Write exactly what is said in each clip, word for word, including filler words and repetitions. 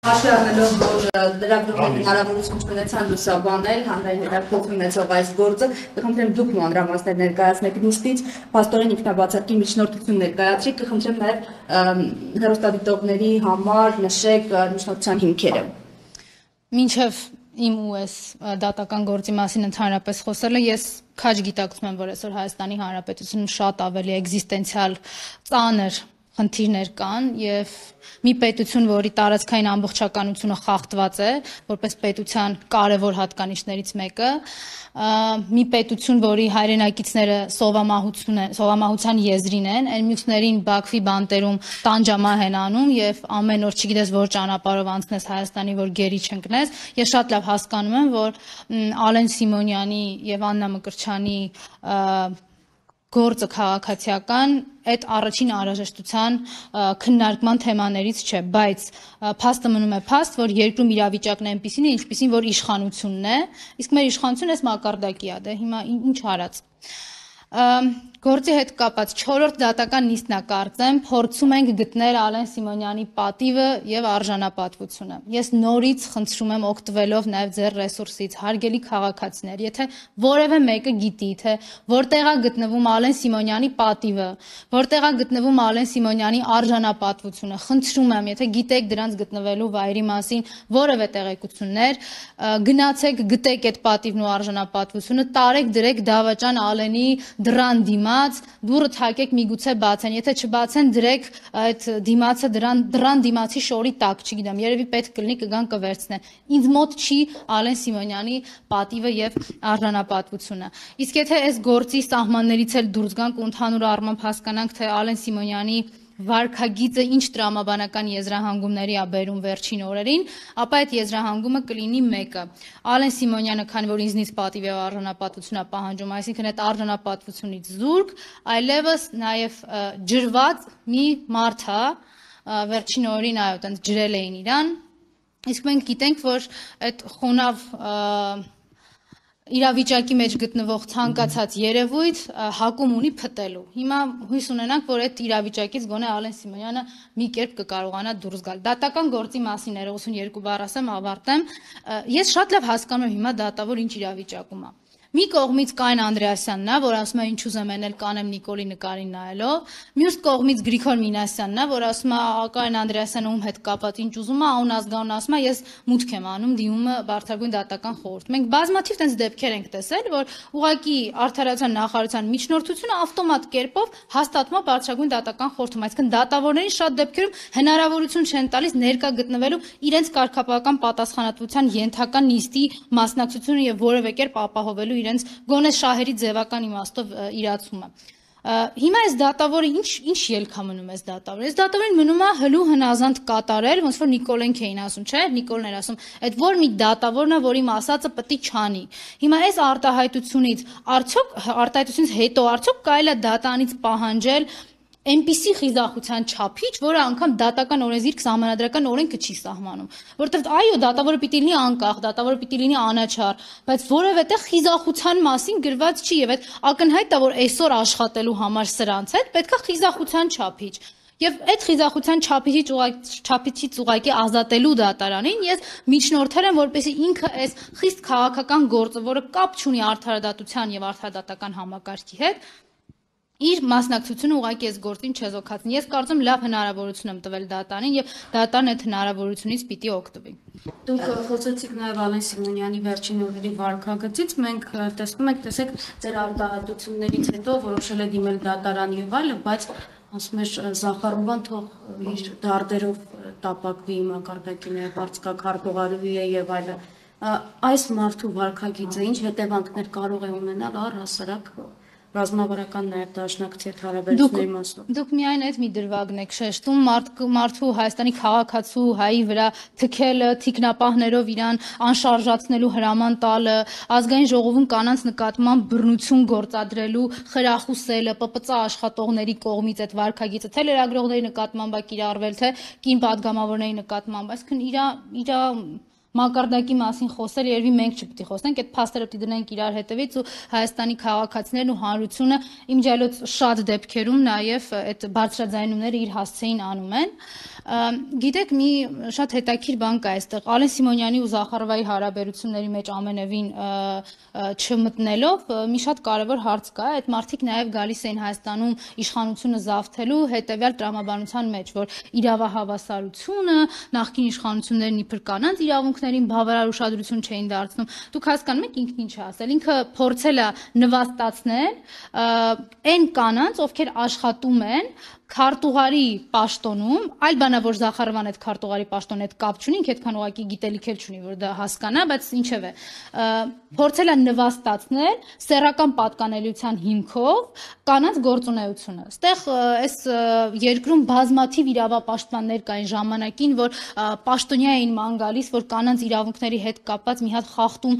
Հաշվի առնելով, որ լրագրողները հնարավորություն չունեցան լուսաբանել հանրային հետաքրքիր ունեցող այս գործը, կխնդրեմ դուք մանրամասներ ներկայացնեք նիստից, փաստորեն ինքնաբացարկի միջնորդություն ներկայացրիք, կխնդրեմ նաև հեռուստադիտողների համար նշեք միջնորդության հիմքերը։ Մինչև իմ ու այս դատական գործի մասին ընդհանրապես խոսելը, ես քաջ գիտակցում եմ, որ այսօր Հայաստանի Հանրապետությունում շատ ավելի էգզիստենցիալ ծանր խնդիրներ կան եւ մի պետություն, որի տարածքային ամբողջականությունը խախտված է, որպես պետության կարևոր հատկանիշներից մեկը, մի պետություն, որի հայրենակիցները սովամահություն են, սովամահության եզրին են, այն մյուսներին Բաքվի բանտերում տանջամահ են անում եւ ամեն օր չգիտես որ ճանապարհով անցնես Հայաստանի, որ գերի չընկնես։ Ես շատ լավ հասկանում եմ, որ Ալեն Սիմոնյանի եւ Աննա Մկրտչյանի գործը քաղաքացիական այդ առաջին անհրաժեշտության քննարկման թեմաներից չէ, բայց փաստը մնում է փաստ, որ երկրում իրավիճակն է այնպիսին է, ինչպիսին որ իշխանությունն է, իսկ մեր իշխանությունը այս մակարդակի է, դե հիմա ինչ արած։ Գործի հետ կապած չորրորդ դատական նիստն է կարծեմ, փորձում ենք գտնել Ալեն Սիմոնյանի պատիվը եւ արժանապատվությունը։ Ես նորից խնդրում եմ օգտվելով նաեւ ձեր ռեսուրսից, հարգելի քաղաքացիներ, եթե որևէ մեկը գիտի, թե որտեղ է գտնվում Ալեն Սիմոնյանի պատիվը, որտեղ է գտնվում Ալեն Սիմոնյանի արժանապատվությունը, խնդրում եմ, եթե գիտեք դրանց գտնվելու վայրի մասին որևէ տեղեկություններ, գնացեք, գտեք այդ պատիվն ու արժանապատվությունը, տարեք դրեք դավաճան Ալենի դրան դիմաց, դուրը թակեք միգուցե բացեն, եթե չբացեն դրեք այդ դիմացը դրան, դրան դիմացի շորի տակ, չգիտեմ, երևի պետք կլինի կգան կվերցնեն։ Ինձ մոտ չի Ալեն Սիմոնյանի պատիվը եւ արժանապատվությունը։ Իսկ եթե այս գործի սահմաններից էլ դուրս գանք ու ընդհանուր առմամբ հասկանանք, թե Ալեն Սիմոնյանի վարքագիծը ինչ տրամաբանական եզրահանգումների է բերում վերջին օրերին, ապա այդ եզրահանգումը կլինի մեկը։ Ալեն Սիմոնյանը, քանի որ ինձնից պատիվ եւ արժանապատվություն է պահանջում, այսինքն այդ արժանապատվությունից զուրկ, այլևս նաեւ ջրված մի մարդ է, վերջին օրերին այո, այդպես ջրել էին իրան, իսկ մենք գիտենք, որ այդ խոնավ իրավիճակի մեջ գտնվող ցանկացած երևույթ հակում ունի փտելու։ Հիմա հույս ունենանք, որ այդ իրավիճակից գոնե Ալեն Սիմոնյանը մի կերպ կկարողանա դուրս գալ։ Դատական գործի մասին ներողություն բառ ասեմ, ավարտեմ։ Ես շատ լավ հասկանում եմ հիմա դատավոր ինչ իրավիճակում է։ Մի կողմից Կային Անդրեասյանն է, որ ասում է ինչ ուզեմ էնել կանեմ Նիկոլի նկարին նայելով, մյուս կողմից Գրիգոր Մինասյանն է, որ ասում է Կային Անդրեասյանը ում հետ կապած ինչ ուզում է, ուն ազգանուն ասում է ես մուտք եմ անում դիմումը բարձրագույն դատական խորհուրդ։ Մենք բազմաթիվ տենց դեպքեր ենք տեսել, որ ուղղակի արդարացան նախարարության միջնորդությունը ավտոմատ կերպով հաստատվում է բարձրագույն դատական խորհրդում, այսինքն դատավորներին շատ դեպքերում հնարավորություն չեն տալիս ներկա գտնվելու իրենց կարգապահական պատասխանատվության ենթական նիստի մասնակցությունը եւ որևէ կերպ ապահովելու իրենց գոնե շահերի ձևական իմաստով իրացումը։ Հիմա այս դատավորը ինչ ինչ ելք է մնում այս դատավորը։ Այս դատավորին մնում է հլու հնազանդ կատարել, ոնց որ Նիկոլենք էին ասում, չէ՞, Նիկոլն էր ասում, այդ որ մի դատավորն է, որ իմ ասածը պետք է չանի։ Հիմա այս արտահայտությունից արդյոք արտահայտությունից հետո արդյոք կարելի է դատարանից պահանջել այնպիսի խիզախության չափիչ, որը անգամ դատական օրենսգիրք սահմանադրական օրենքը չի սահմանում, որովհետև այո, դատավորը պիտի լինի անկախ, դատավորը պիտի լինի անաչառ, բայց որևէ տեղ խիզախության մասին գրված չի եւ այդ ակնհայտ է, որ այսօր աշխատելու համար սրանց հետ պետքա խիզախության չափիչ։ Եվ այդ խիզախության չափիչից չափիչից ուղղակի ազատելու դատարանին ես միջնորդել եմ, որպեսզի ինքը այս խիստ քաղաքական գործը, որը կապ չունի արդարադատության եւ արդարադատական համակարգի հետ, իր մասնակցությունը ուղղակի այս գործին չեզոքացնի։ Ես կարծում լավ հնարավորություն եմ տվել դատարանին եւ դատարանը այդ հնարավորությունից պիտի օգտվի։ Դուք խոսեցիք նաեւ Ալեն Սիմոնյանի վերջին օրերի վարքագծից, մենք տեսնում ենք, տեսեք, ձեր արտահայտություններից հետո որոշել է դիմել դատարան եւ այլը, բայց ասում էր Զախարովան թող իր դարդերով տապակվի մակարդակի նաեւ արտակարգողարվի է եւ այլը։ Այս մարդու վարքագիծը ինչ հետևանքներ կարող է ունենալ առհասարակ ռազմավարական նաև դաշնակցի հետ հարաբերությունների մասով։ Դուք միայն այդ մի դրվագն եք շեշտում, մարդու Հայաստանի քաղաքացու հայի վրա թքելը, թիկնապահներով իրան անշարժացնելու հրաման տալը, ազգային ժողովում կանանց նկատմամբ բռնություն գործադրելու խրախուսելը, Պ Պ Ծ աշխատողների կողմից այդ վարքագիծը, թե լրագրողների նկատմամբ է կիրառվել, թե կին պատգամավորների նկատմամբ, այսինքն իր իր մակարդակի մասին խոսել, երևի մենք չպետք է խոսենք, այդ փաստերը պիտի դնենք իրար հետևից ու Հայաստանի քաղաքացիներն ու հանրությունը իմջալոց շատ դեպքերում նաև այդ բարձրաձայնումները իր հասցեին անում են։ Գիտեք, մի շատ հետաքրքիր բան կա այստեղ, Ալեն Սիմոնյանի ու Զախարովայի հարաբերությունների մեջ ամենևին չմտնելով, մի շատ կարևոր հարց կա, այդ մարդիկ նաև գալիս էին Հայաստանում իշխանությունը զավթելու հետևյալ տրամաբանության մեջ, որ իրավահավասարությունը, նախկին իշխանություններն իբր կանանց իրավունքներին բավարար ուշադրություն չէին դարձնում։ Դուք հասկանում եք ինքն ինչ է ասել, ինքը փորձել է նվաստացնել այն կանանց, ովքեր աշխատում են քարտուղարի պաշտոնում, այլ բանա որ Զախարովան այդ քարտուղարի պաշտոնի հետ կապ չունի, ինքը այդքան ուղղակի գիտելիք էլ չունի, որ դա հասկանա, բայց ինչևէ, փորձել է նվաստացնել սեռական պատկանելիության հիմքով կանանց գործունեությունը։ Այստեղ այս երկրում բազմաթիվ իրավապաշտպաններ կային ժամանակին, որ պաշտոնյա էին ման գալիս, որ կանանց իրավունքների հետ կապված մի հատ խախտում,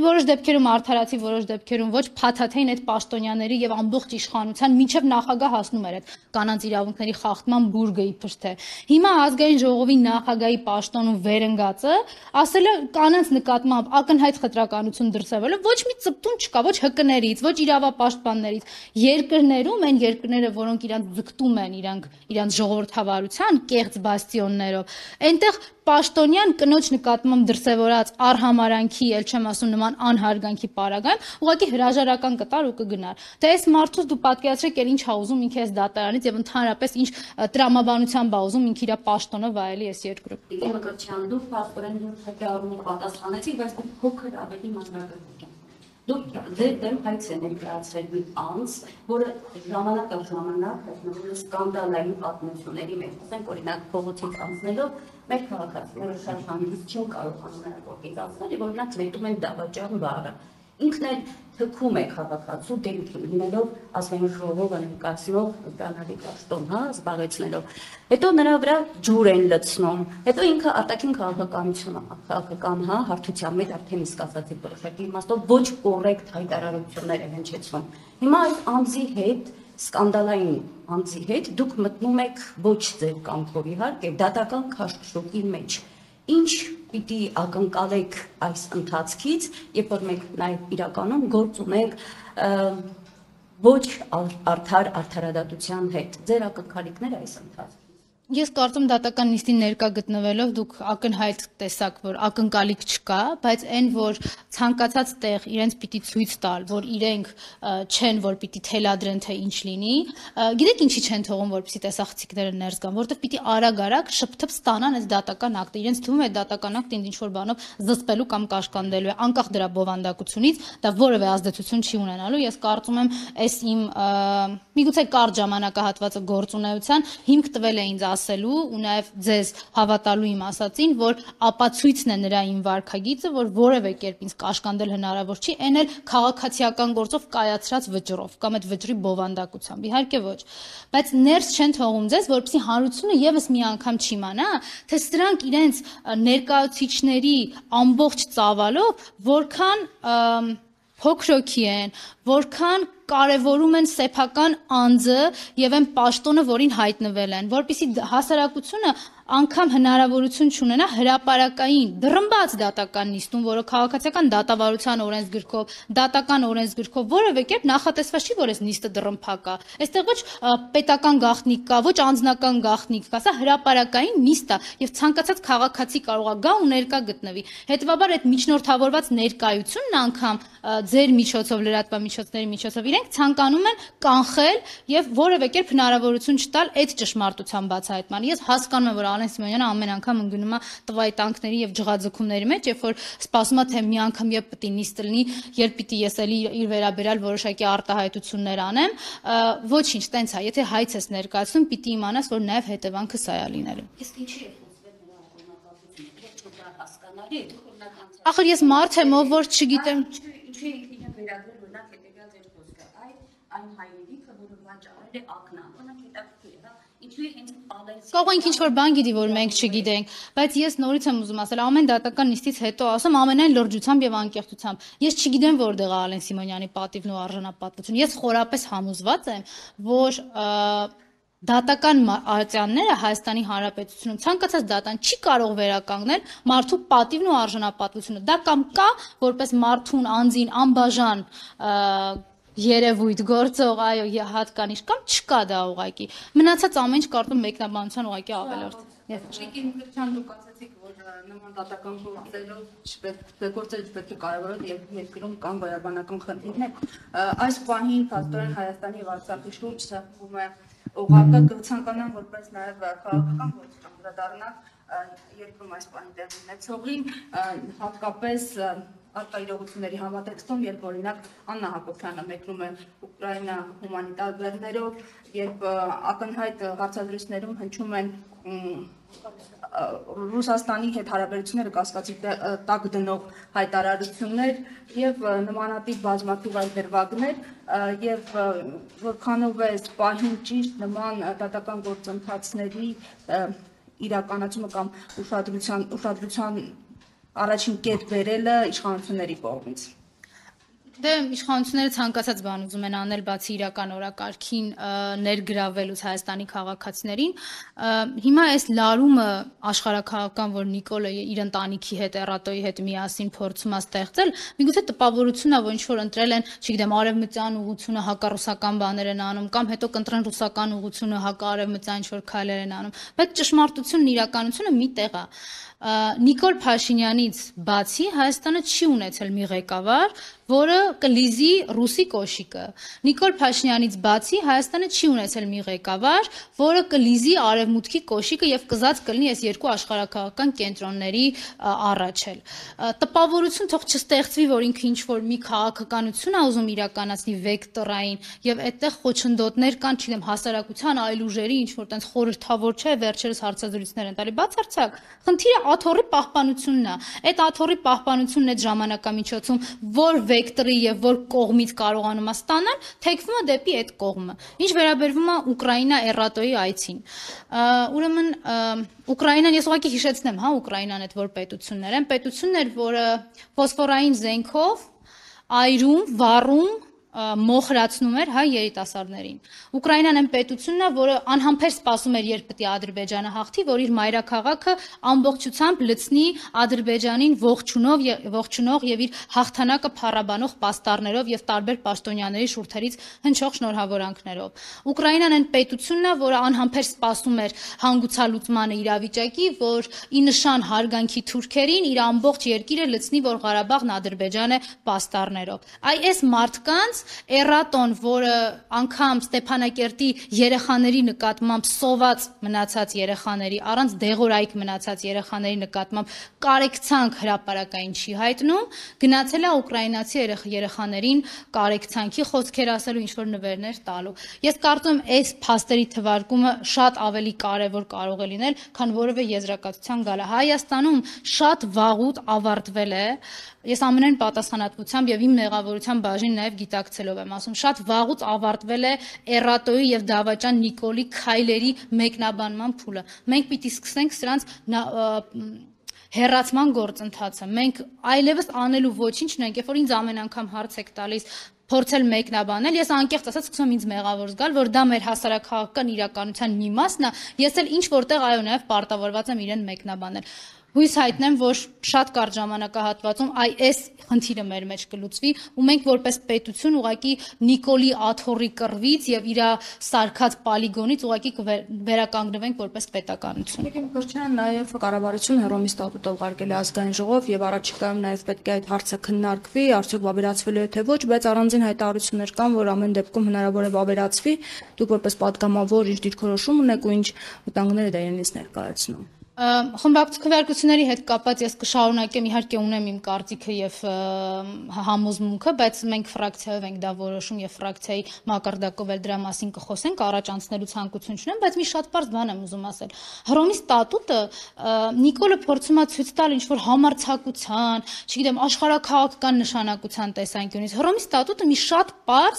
որոշ դեպքերում արդարացի, որոշ դեպքերում ոչ, փաթաթեին այդ պաշտոնյաների եւ ամբողջ իշխանության մինչեւ նախագահ հասնում էր այդ կանանց իրավունքների խախտման բուրգը իբր թե։ Հիմա ազգային ժողովի նախագահի պաշտոնում վերընկածը ասել է կանանց նկատմամբ ակնհայտ խտրականություն դրսևորել, ոչ մի ծպտուն չկա, ոչ ՀԿ-ներից, ոչ իրավապաշտպաններից։ Երկրներում այն երկրները, որոնք իրանց ձգտում են, իրանք իրանց ժողովրդավարության կեղծ բաստիոններով, այնտեղ պաշտոնյան կնոջ նկատմամբ դրսևորած արհամարանքի, ել չեմ ասում նման անհարգանքի պարագայում, ուղղակի հրաժարական կտար ու կգնար։ Դե այս մարդուց դու պատկերացրեք, էլ ինչ ա ուզում ինքը այս դատարանից եւ ընդհանրապես ինչ տրամաբանության բա ուզում ինքը իր պաշտոնը վայելի այս երկրում։ Դեմոկրատիան դու փաստորեն հետեւում պատասխանեցիք, բայց դու փոքր ավելի մանրակրկիտ եք։ Դուք ձեր դեմ հայց եք ներկայացրել մի անձ, որը ժամանակ առ ժամանակ հայտնվում է սկանդալային պատմությունների մեջ, ասենք օրինակ փողոցից անցնելով մեր քաղաքացիները շատ հանգիստ չեն կարողանում այդ փողոցից անցնել, որ նրանց մետում են դավաճան բառը։ Ինքն էլ թքում է քաղաքացու դեմքին, լինելով ազգային ժողովը ներկայացնող կանալի պաշտոն, հա, զբաղեցնելով։ Հետո նրա վրա ջուր են լցնում, հետո ինքը արտաքին քաղաքականություն, քաղաքական, հա, հարթության մեջ արդեն իսկ ասացի որոշակի իմաստով ոչ կոռեկտ հայտարարություններ են հնչեցնում։ Հիմա այս անձի հետ սկանդալային անձի հետ դուք մտնում եք ոչ ձեր կամքով իհարկե դատական քաշքշուկի մեջ։ Ինչ պիտի ակնկալեք այս ընթացքից, երբ որ մենք նաև իրականում գործ ունենք ոչ արդար արդարադատության հետ։ Ձեր ակնկալիքները այս ընթացքից։ Ես կարծում դատական նիստին ներկա գտնվելով դուք ակնհայտ տեսակ, որ ակնկալիք չկա, բայց այն, որ ցանկացած տեղ իրենց պիտի ցույց տալ, որ իրենք չեն, որ պիտի թելադրեն, թե ինչ լինի, գիտեք ինչի չեն թողում, որպեսզի տեսախցիկները ներս գան, որովհետև պիտի արագ-արագ շփթփ ստանան այս դատական ակտը, իրենց թվում է դատական ակտը ինչ որ բանով զսպելու կամ կաշկանդելու է, անկախ դրա բովանդակությունից, դա որևէ ազդեցություն չի ունենալու։ Ես կարծում եմ, այս իմ միգուցե կարճ ժամանակահատվածը գործունեության հիմք տվել է ինձ ասելու ու նաև ձեզ հավատալու իմ ասածին, որ ապացույցն է նրա իմ վարքագիծը, որ որևէ կերպ ինձ կաշկանդել հնարավոր չի, այն էլ քաղաքացիական գործով կայացրած վճռով կամ այդ վճռի բովանդակությամբ, իհարկե ոչ, բայց ներս չեն թողում ձեզ, որպեսզի հանրությունը եւս մի անգամ չիմանա, թե սրանք իրենց ներկայացուցիչների ամբողջ ծավալով որքան փոքրոքի են, որքան կարևորում են սեփական անձը եւ այն պաշտոնը, որին հայտնվել են, որպեսզի հասարակությունը անգամ հնարավորություն չունենա հրապարակային դռնբաց դատական նիստում, որը քաղաքացիական դատավարության օրենսգրքով, դատական օրենսգրքով որևէ կերպ նախատեսված չի, որ այս նիստը դռնփակ է։ Այստեղ ոչ պետական գաղտնիք կա, ոչ անձնական գաղտնիք կա, սա հրապարակային նիստ է եւ ցանկացած քաղաքացի կարող է գա ու ներկա գտնվի։ Հետևաբար այդ միջնորդավորված ներկայությունն անգամ ձեր միջոցով, լրատվամիջոցների միջոցով իրենք ցանկանում են կանխել եւ որևէ կերպ հնարավորություն չտալ այդ ճշմարտության բացահայտման։ Ես հասկանում եմ, որ Ալեն Սիմոնյանը ամեն անգամ ընկնում է տվայ տանկների եւ ջղաձգումների մեջ, երբ որ սպասում է թե մի անգամ երբ պիտի նիստ լինի, երբ պիտի ես էլի իր վերաբերյալ որոշակի արտահայտություններ անեմ, ոչինչ, տենց է, եթե հայց ես ներկայացնում, պիտի իմանաս, որ նաեւ հետևանքը սա է լինելու։ Իսկ ինչի է խոսվել նրա օրինակացությունը, ոչ դա հասկանալի է, օրինական։ Ախր ես մարդ եմ, ով որ չգիտեմ, ինչի ինքնին վերագրել օրինակ հետեւյալ ձեր խոսքը, այ այն հայրենիքը, որը վաճառել է ակնան, օրինակ հետաքրքիր է, հա, ինչու է հենց Կարող ենք ինչ-որ բան գիտի, որ մենք չգիտենք, բայց ես նորից եմ ուզում ասել, ամեն դատական նիստից հետո ասում ամենայն լրջությամբ եւ անկեղծությամբ։ Ես չգիտեմ որտեղ է Ալեն Սիմոնյանի պատիվն ու արժանապատվությունը։ Ես խորապես համոզված եմ, որ դատական արտոնները Հայաստանի Հանրապետությունում ցանկացած դատան չի կարող վերականգնել մարդու պատիվն ու արժանապատվությունը։ Դա կամ կա որպես մարդուն անձին անբաժան երևույթ գործող, այո, հատկանիշ կամ չկա դա ուղղակի։ Մնացած ամեն ինչ կարծում մեկնաբանության ուղղակի ավելորդ։ Շիկին Մկրտչյան դուք ասացիք, որ նման դատական գործերով գործերը պետք է կարևորել եւ երկրում կան բարաբանական խնդիրներ։ Այս պահին փաստորեն Հայաստանի եւ Արցախի շուրջ սեղմում է օղակը, կցանկանան որպես նաեւ քաղաքական գործ անդրադառնալ երկրում այս պահին տեղի ունեցողին, հատկապես արտա իրողությունների համատեքստում, երբ օրինակ Աննա Հակոբյանը մեկնում է Ուկրաինա հումանիտար բեռներով, երբ ակնհայտ հարցադրույցներում հնչում են Ռուսաստանի հետ հարաբերությունները կասկածի տակ դնող հայտարարություններ եւ նմանատիպ բազմաթիվ այլ դրվագներ եւ որքանով է պահին ճիշտ նման դատական գործընթացների իրականացումը կամ ուշադրության ուշադրության առաջին կետ վերելը իշխանությունների կողմից։ Դե իշխանությունները ցանկացած բան ուզում են անել բացի իրական օրակարգին ներգրավելուց Հայաստանի քաղաքացիներին։ Հիմա այս լարումը աշխարհաքաղաքական, որ Նիկոլը իր ընտանիքի հետ, Էրատոյի հետ միասին փորձում է ստեղծել, միգուցե տպավորությունն է, որ ինչ որ ընտրել են, չգիտեմ, արևմտյան ուղղությունը հակառուսական բաներ են անում, կամ հետո կընտրեն ռուսական ուղղությունը հակարևմտյան ինչ որ քայլեր են անում, բայց ճշմարտությունն իրականությունը մի տեղ է։ Նիկոլ Փաշինյանից բացի Հայաստանը չի ունեցել մի ղեկավար, որը կլիզի ռուսի կոշիկը։ Նիկոլ Փաշինյանից բացի Հայաստանը չի ունեցել մի ղեկավար, որը կլիզի արևմուտքի կոշիկը եւ կզած կլինի այս երկու աշխարհաքաղաքական կենտրոնների առաջ էլ։ Տպավորություն թող չստեղծվի, որ ինքը ինչ որ մի քաղաքականություն է ուզում իրականացնի վեկտորային եւ այդտեղ խոչընդոտներ կան, չգիտեմ, հասարակության այլ ուժերի ինչ որ տենց խորհրդավոր չէ, վերջերս հարցազրույցներ են տալի, բացարձակ։ Խնդիրը աթոռի պահպանությունն է։ Այդ աթոռի պահպանությունն այդ ժամանակամիջոցում որ վեկտորի եւ որ կողմից կարողանում է ստանալ, թեքվում է դեպի այդ կողմը։ Ինչ վերաբերվում է Ուկրաինա Էրատոյի այցին։ Ուրեմն Ուկրաինան ես ուղղակի հիշեցնեմ, հա, Ուկրաինան այդ որ պետություններ են, պետություններ, որը ֆոսֆորային զենքով այրում, վառում մոխրացնում էր հայ երիտասարդներին։ Ուկրաինան այն պետությունն է, որը անհամբեր սպասում էր, երբ պետք է Ադրբեջանը հաղթի, որ իր մայրաքաղաքը ամբողջությամբ լցնի Ադրբեջանին ողջունով ողջունող եւ իր հաղթանակը փառաբանող պաստառներով եւ տարբեր պաշտոնյաների շուրթերից հնչող շնորհավորանքներով։ Ուկրաինան այն պետությունն է, որը անհամբեր սպասում էր հանգուցալուծմանը իրավիճակի, որ ի նշան հարգանքի թուրքերին իր ամբողջ երկիրը լցնի, որ Ղարաբաղն Ադրբեջան է պաստառներով։ Այ այս մարդկանց Էրատոն, որը անգամ Ստեփանակերտի երեխաների նկատմամբ սոված մնացած երեխաների, առանց դեղորայք մնացած երեխաների նկատմամբ կարեկցանք հրապարակային չի հայտնում, գնացել է ուկրաինացի երեխաներին կարեկցանքի խոսքեր ասելու, ինչ որ նվերներ տալու։ Ես կարծում եմ այս փաստերի թվարկումը շատ ավելի կարևոր կարող է լինել, քան որևէ եզրակացության գալը։ Հայաստանում շատ վաղուց ավարտվել է, ես ամենայն պատասխանատվությամբ եւ իմ մեղավորության բաժին նաեւ գիտակցելով եմ ասում, շատ վաղուց ավարտվել է Էրատոյի եւ Դավաճան Նիկոլի քայլերի մեկնաբանման փուլը։ Մենք պիտի սկսենք սրանց հերացման գործընթացը։ Մենք այլևս անելու ոչինչ չունենք, երբ որ ինձ ամեն անգամ հարց եք տալիս փորձել մեկնաբանել, ես անկեղծ ասած սկսում ինձ մեղավոր զգալ, որ դա մեր հասարակական իրականության մի մասն է, ես էլ ինչ որտեղ այո նաև պարտավորված եմ իրեն մեկնաբանել։ Հույս հայտնեմ, որ շատ կարճ ժամանակահատվածում այ այս խնդիրը մեր մեջ կլուծվի ու մենք որպես պետություն ուղղակի Նիկոլի աթոռի կռվից եւ իր սարքած պոլիգոնից ուղղակի վերականգնվենք որպես պետականություն։ Եկեք Մկրտչյան նաև կառավարությունը Հռոմի ստատուտ ուղարկել է ազգային ժողով եւ առաջիկայում նաև պետք է այդ հարցը քննարկվի, արդյոք վավերացվելու է թե ոչ, բայց առանձին հայտարարություններ կան, որ ամեն դեպքում հնարավոր է վավերացվի։ Դուք որպես պատգամավոր ինչ դիրքորոշում ունեք ու ինչ վտանգներ է դա իրենից ներկայացնում։ Խմբակցությունների հետ կապված ես կշարունակեմ, իհարկե ունեմ իմ կարծիքը եւ համոզմունքը, բայց մենք ֆրակցիայով ենք դա որոշում եւ ֆրակցիայի մակարդակով էլ դրա մասին կխոսենք, առաջ անցնելու ցանկություն չունեմ, բայց մի շատ բարձ բան եմ ուզում ասել։ Հռոմի ստատուտը Նիկոլը փորձում է ցույց տալ ինչ որ համարձակության, չգիտեմ, աշխարհաքաղաքական նշանակության տեսանկյունից։ Հռոմի ստատուտը մի շատ բարձ,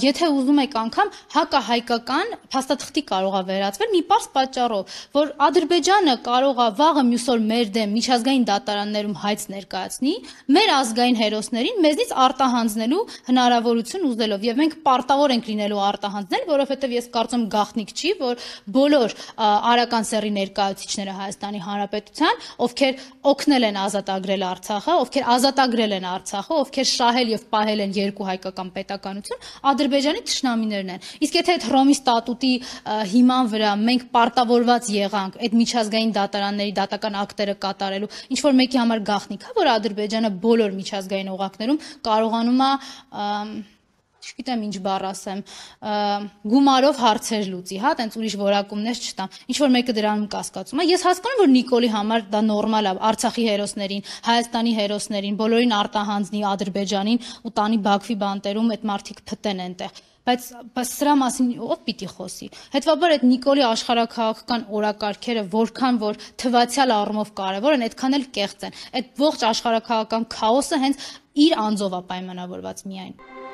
եթե ուզում եք անգամ հակահայկական փաստաթղթի կարող է վերածվել մի բարձ պատճառով, որ Ադրբեջանը կարող է վաղը մյուս օր մեր դեմ միջազգային դատարաններում հայց ներկայացնի, մեր ազգային հերոսներին մեզնից արտահանձնելու հնարավորություն ուզելով, եւ մենք պարտավոր ենք լինելու արտահանձնել, որովհետեւ ես կարծում գաղտնիք չի, որ բոլոր արական սեռի ներկայացուցիչները Հայաստանի Հանրապետության, ովքեր օգնել են ազատագրել Արցախը, ովքեր ազատագրել են Արցախը, ովքեր շահել եւ պահել են երկու հայկական պետականություն, Ադրբեջանի թշնամիներն են։ Իսկ եթե այդ Հռոմի ստատուտի հիման վրա մենք պարտավորված եղանք այդ միջազգային դատարանների դատական ակտերը կատարելու, ինչ որ մեկի համար գաղտնիք է, որ Ադրբեջանը բոլոր միջազգային օղակներում կարողանում է, չգիտեմ ինչ բառ ասեմ, գումարով հարցեր լուծի, հա, տենց ուրիշ որակումներ չտամ։ Ինչ որ մեկը դրանում կասկածում է։ Ես հասկանում եմ, որ Նիկոլի համար դա նորմալ է, Արցախի հերոսներին, Հայաստանի հերոսներին, բոլորին արտահանձնի Ադրբեջանին ու տանի Բաքվի բանտերում այդ մարդիկ փտեն այնտեղ։ Բայց բայց սրա մասին ով պիտի խոսի։ Հետևաբար այդ Նիկոլի աշխարհաքաղաքական օրակարգերը որքան որ թվացial առումով կարևոր են, այդքան էլ կեղծ են։ Այդ ողջ աշխարհաքաղաքական քաոսը հենց իր անձով է պայմանավորված միայն։